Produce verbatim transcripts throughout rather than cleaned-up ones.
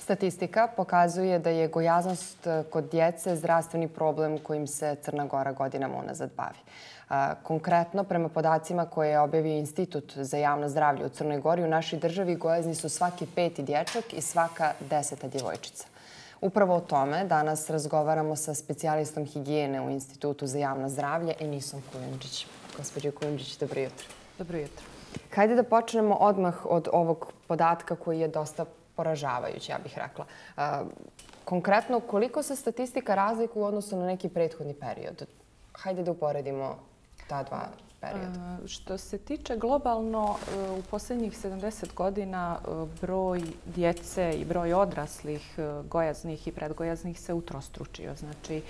Statistika pokazuje da je gojaznost kod djece zdravstveni problem kojim se Crna Gora godinama unazad bavi. Konkretno, prema podacima koje je objavio Institut za javno zdravlje u Crnoj Gori, u našoj državi gojazni su svaki peti dječak i svaka deseta djevojčica. Upravo o tome danas razgovaramo sa specijalistom higijene u Institutu za javno zdravlje Enisom Kujundžić. Gospođo Kujundžić, dobro jutro. Dobro jutro. Hajde da počnemo odmah od ovog podatka koji je dosta poražavajući, ja bih rekla. Konkretno, koliko se statistika razlikuje u odnosu na neki prethodni period? Hajde da uporedimo ta dva perioda. Što se tiče globalno, u posljednjih sedamdeset godina broj djece i broj odraslih gojaznih i predgojaznih se utrostručio. Znači,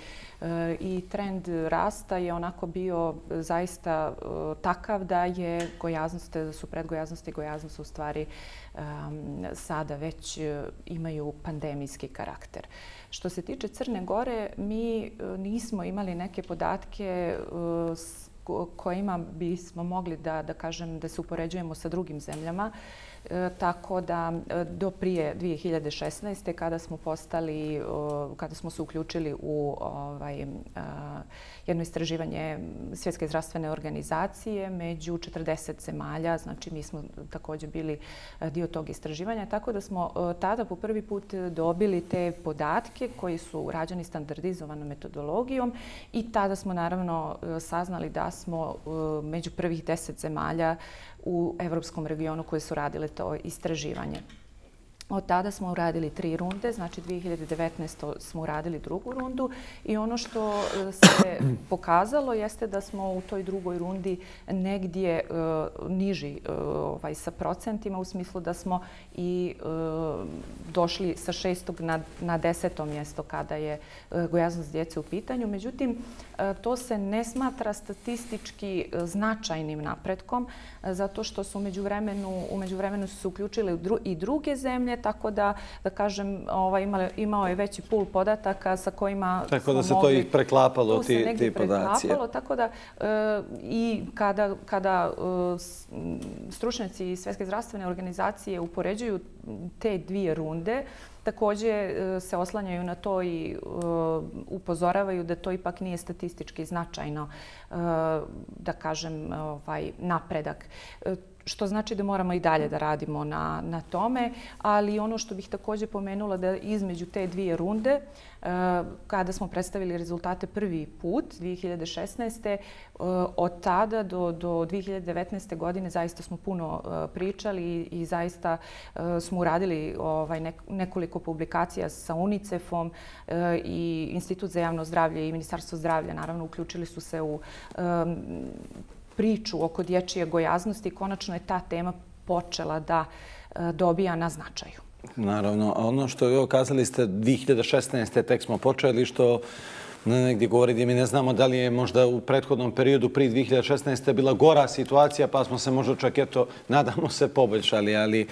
i trend rasta je onako bio zaista takav da je gojaznost, da su predgojaznost i gojaznost u stvari sada već imaju pandemijski karakter. Što se tiče Crne Gore, mi nismo imali neke podatke kojima bismo mogli da, da kažem da se upoređujemo sa drugim zemljama. E, tako da do prije dvije hiljade šesnaeste. kada smo postali, kada smo se uključili u ovaj, a, jedno istraživanje Svjetske zdravstvene organizacije među četrdeset zemalja, znači mi smo također bili dio tog istraživanja, tako da smo tada po prvi put dobili te podatke koji su rađeni standardizovanom metodologijom i tada smo naravno saznali da smo među prvih deset zemalja u evropskom regionu koje su radile to istraživanje. Od tada smo uradili tri runde, znači dvije hiljade devetnaeste. smo uradili drugu rundu i ono što se pokazalo jeste da smo u toj drugoj rundi negdje uh, niži uh, ovaj, sa procentima u smislu da smo i uh, došli sa šestog na, na deseto mjesto kada je uh, gojaznost djece u pitanju. Međutim, uh, to se ne smatra statistički uh, značajnim napretkom uh, zato što su u međuvremenu, u međuvremenu su se uključile dru, i druge zemlje, tako da, da kažem, ovaj, imao, imao je veći pul podataka sa kojima tako da se mogli, to i preklapalo, tu ti, ti podaci. Tako da e, i kada, kada e, stručnjaci Svjetske zdravstvene organizacije upoređuju te dvije runde, također se oslanjaju na to i uh, upozoravaju da to ipak nije statistički značajno, uh, da kažem, ovaj, napredak. Uh, što znači da moramo i dalje da radimo na, na tome, ali ono što bih također pomenula da između te dvije runde, uh, kada smo predstavili rezultate prvi put, dvije hiljade šesnaeste. Uh, od tada do, do dvije hiljade devetnaeste. godine zaista smo puno uh, pričali i, i zaista uh, smo uradili ovaj, nek, nekoliko publikacija sa UNICEF-om uh, i Institut za javno zdravlje i Ministarstvo zdravlja. Naravno, uključili su se u um, priču oko dječje gojaznosti i konačno je ta tema počela da uh, dobija na značaju. Naravno, a ono što je kazali ste dvije hiljade šesnaeste. tek smo počeli, što negdje govori da mi ne znamo da li je možda u prethodnom periodu prije dvije hiljade šesnaeste. bila gora situacija, pa smo se možda čak eto, nadamo se, poboljšali. Ali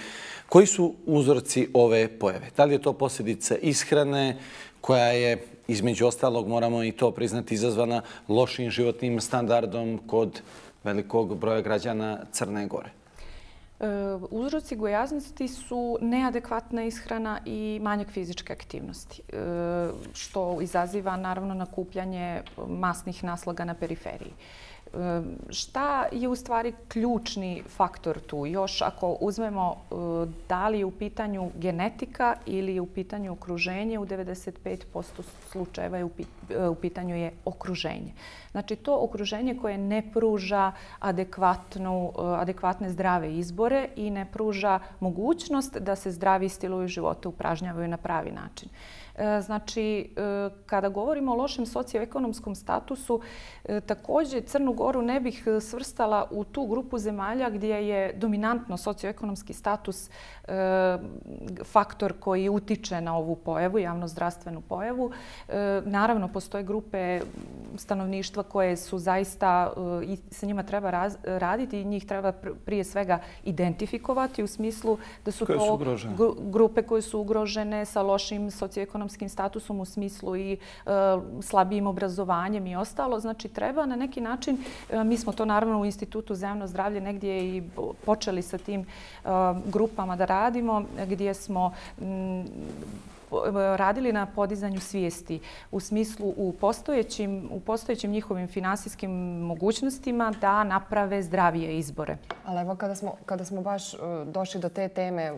koji su uzorci ove pojave? Da li je to posljedica ishrane koja je, između ostalog, moramo i to priznati, izazvana lošim životnim standardom kod velikog broja građana Crne Gore? Uzroci gojaznosti su neadekvatna ishrana i manjak fizičke aktivnosti, što izaziva naravno nakupljanje masnih naslaga na periferiji. Šta je u stvari ključni faktor tu? Još ako uzmemo da li je u pitanju genetika ili je u pitanju okruženje, u devedeset pet posto slučajeva je u pitanju je okruženje. Znači to okruženje koje ne pruža adekvatnu, adekvatne zdrave izbore i ne pruža mogućnost da se zdravi stilovi života upražnjavaju na pravi način. Znači, kada govorimo o lošem socioekonomskom statusu, također Crnu Goru ne bih svrstala u tu grupu zemalja gdje je dominantno socioekonomski status faktor koji utiče na ovu pojavu, javnozdravstvenu pojavu. Naravno, postoje grupe stanovništva koje su zaista, i sa njima treba raz, raditi i njih treba prije svega identifikovati u smislu da su to su grupe koje su ugrožene sa lošim socioekonomskim socioekonomskim statusom u smislu i slabijim obrazovanjem i ostalo. Znači, treba na neki način, mi smo to naravno u Institutu za javno zdravlje negdje i počeli sa tim grupama da radimo, gdje smo radili na podizanju svijesti u smislu u postojećim, u postojećim njihovim finansijskim mogućnostima da naprave zdravije izbore. Ali evo kada smo, kada smo baš došli do te teme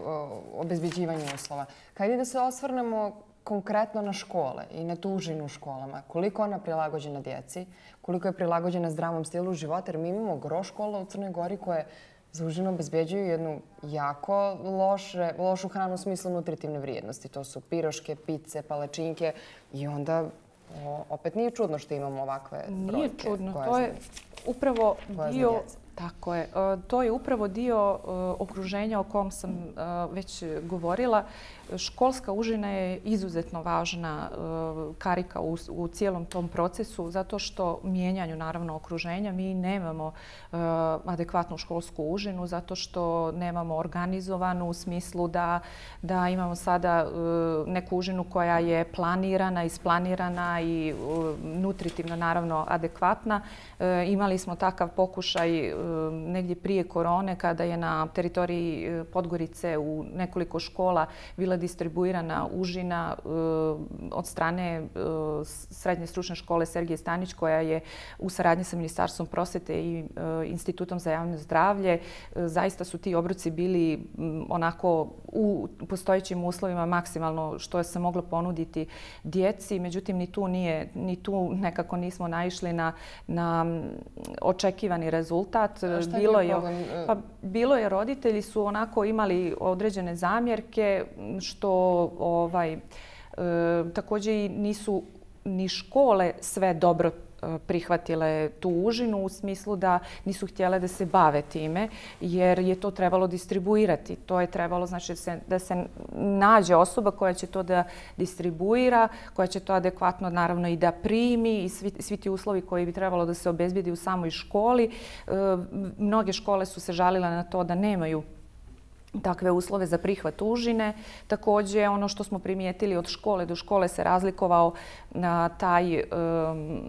obezbeđivanja uslova, hajde da se osvrnemo konkretno na škole i na tu užinu u školama. Koliko ona prilagođena djeci, koliko je prilagođena zdravom stilu života, jer mi imamo gro škola u Crnoj Gori koje za užinu obezbeđuju jednu jako loše, lošu hranu u smislu nutritivne vrijednosti. To su piroške, pice, palačinke i onda o, opet nije čudno što imamo ovakve brojke. Nije čudno. To je upravo dio... Tako je. To je upravo dio okruženja o kom sam već govorila. Školska užina je izuzetno važna karika u cijelom tom procesu zato što mijenjanju naravno okruženja mi nemamo adekvatnu školsku užinu zato što nemamo organizovanu u smislu da, da imamo sada neku užinu koja je planirana, isplanirana i nutritivno naravno adekvatna. Imali smo takav pokušaj negdje prije korone kada je na teritoriji Podgorice u nekoliko škola bila distribuirana užina od strane Srednje stručne škole Sergije Stanić koja je u saradnji sa Ministarstvom prosvjete i Institutom za javno zdravlje. Zaista su ti obroci bili onako u postojećim uslovima maksimalno što se moglo ponuditi djeci. Međutim, ni tu, nije, ni tu nekako nismo naišli na, na očekivani rezultat. Bilo je, pa, bilo je, roditelji su onako imali određene zamjerke što ovaj, e, također i nisu ni škole sve dobro prihvatile tu užinu u smislu da nisu htjele da se bave time jer je to trebalo distribuirati. To je trebalo znači, da se nađe osoba koja će to da distribuira, koja će to adekvatno naravno i da primi i svi, svi ti uslovi koji bi trebalo da se obezbijedi u samoj školi. E, mnoge škole su se žalile na to da nemaju takve uslove za prihvat užine. Također, ono što smo primijetili od škole do škole se razlikovao na taj um,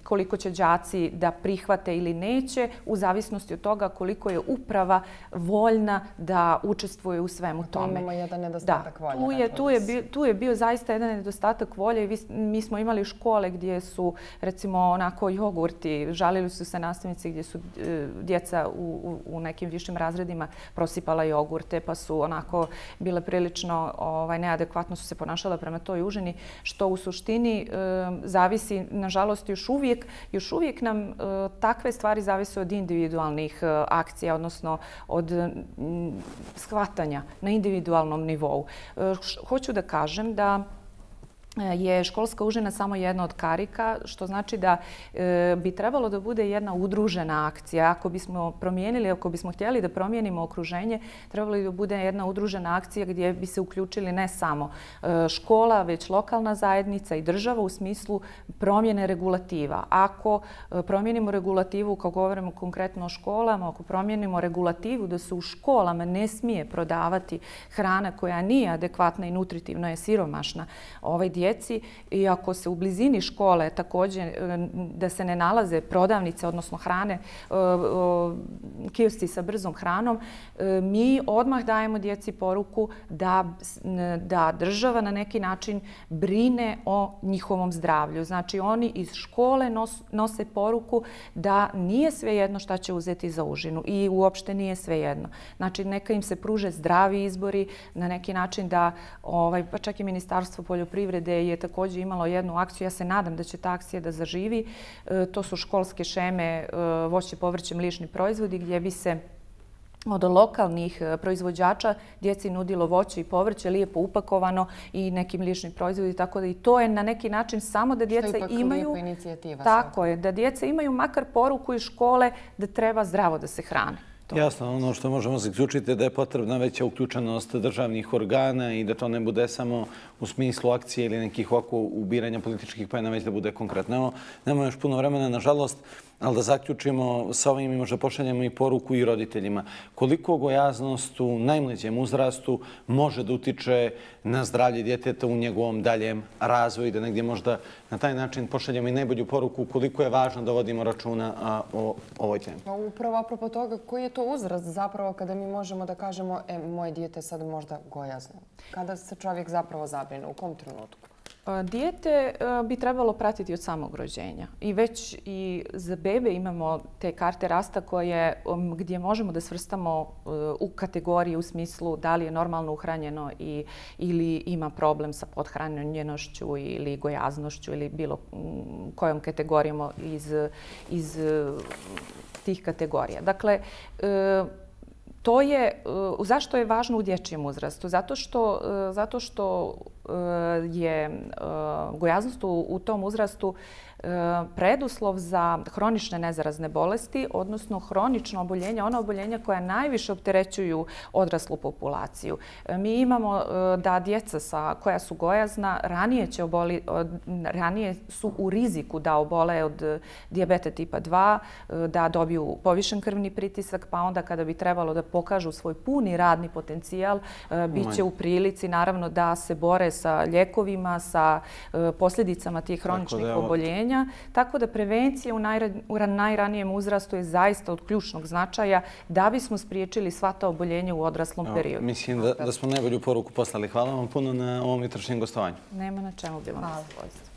koliko će đaci da prihvate ili neće u zavisnosti od toga koliko je uprava voljna da učestvuje u svemu tome. Imamo jedan nedostatak volje. Tu je, tu, je bio, tu je bio zaista jedan nedostatak volje i vi, mi smo imali škole gdje su recimo onako jogurti, žalili su se nastavnici gdje su e, djeca u, u, u nekim višim razredima prosipala jogurt pa su onako bile prilično ovaj, neadekvatno su se ponašala prema toj užini, što u suštini e, zavisi, nažalost, još uvijek, još uvijek nam e, takve stvari zavise od individualnih e, akcija, odnosno od m, shvatanja na individualnom nivou. E, hoću da kažem da je školska užina samo jedna od karika, što znači da e, bi trebalo da bude jedna udružena akcija. Ako bismo promijenili, ako bismo htjeli da promijenimo okruženje, trebalo bi da bude jedna udružena akcija gdje bi se uključili ne samo e, škola, već lokalna zajednica i država u smislu promjene regulativa. Ako e, promijenimo regulativu, kao govorimo konkretno o školama, ako promijenimo regulativu da se u školama ne smije prodavati hrana koja nije adekvatna i nutritivno je siromašna ovaj djeci i ako se u blizini škole također da se ne nalaze prodavnice, odnosno hrane, kiosci sa brzom hranom, mi odmah dajemo djeci poruku da, da država na neki način brine o njihovom zdravlju. Znači oni iz škole nos, nose poruku da nije svejedno šta će uzeti za užinu i uopšte nije svejedno. Znači neka im se pruže zdravi izbori na neki način da, ovaj, pa čak i Ministarstvo poljoprivrede je također imalo jednu akciju. Ja se nadam da će ta akcija da zaživi. E, to su školske šeme e, voće, povrće, mliječni proizvodi gdje bi se od lokalnih proizvođača djeci nudilo voće i povrće lijepo upakovano i neki mliječni proizvodi. Tako da i to je na neki način samo da djeca imaju... Tako je, da djeca imaju makar poruku iz škole da treba zdravo da se hrane. Jasno, ono što možemo zaključiti je da je potrebna veća uključenost državnih organa i da to ne bude samo u smislu akcije ili nekih ovako ubiranja političkih pojena, već da bude konkretno. Evo, nemamo još puno vremena, nažalost. Ali da zaključimo sa ovim i možda pošaljemo i poruku i roditeljima. Koliko gojaznost u najmlađem uzrastu može da utiče na zdravlje djeteta u njegovom daljem razvoju i da negdje možda na taj način pošaljemo i najbolju poruku koliko je važno da vodimo računa o ovoj temi. Upravo apropo toga, koji je to uzrast zapravo kada mi možemo da kažemo e, moje dijete je sad možda gojazno? Kada se čovjek zapravo zabrine? U kom trenutku? Dijete bi trebalo pratiti od samog rođenja i već i za bebe imamo te karte rasta koje, gdje možemo da svrstamo u kategorije u smislu da li je normalno uhranjeno i, ili ima problem sa pothranjenošću ili gojaznošću ili bilo kojom kategorijom iz, iz tih kategorija. Dakle, to je, zašto je važno u dječjem uzrastu? Zato što, zato što je gojaznost u tom uzrastu preduslov za hronične nezarazne bolesti, odnosno hronično oboljenje, ona oboljenja koja najviše opterećuju odraslu populaciju. Mi imamo da djeca sa, koja su gojazna ranije, će oboli, ranije su u riziku da obole od dijabeta tipa dva, da dobiju povišen krvni pritisak, pa onda kada bi trebalo da pokažu svoj puni radni potencijal, bit će u prilici naravno da se bore sa ljekovima, sa posljedicama tih hroničnih oboljenja. Tako da prevencija u najranijem uzrastu je zaista od ključnog značaja da bismo spriječili sva ta oboljenja u odraslom periodu. Mislim da smo najbolju poruku poslali. Hvala vam puno na ovom jutrošnjem gostovanju. Nema na čemu, bilo mi zadovoljstvo.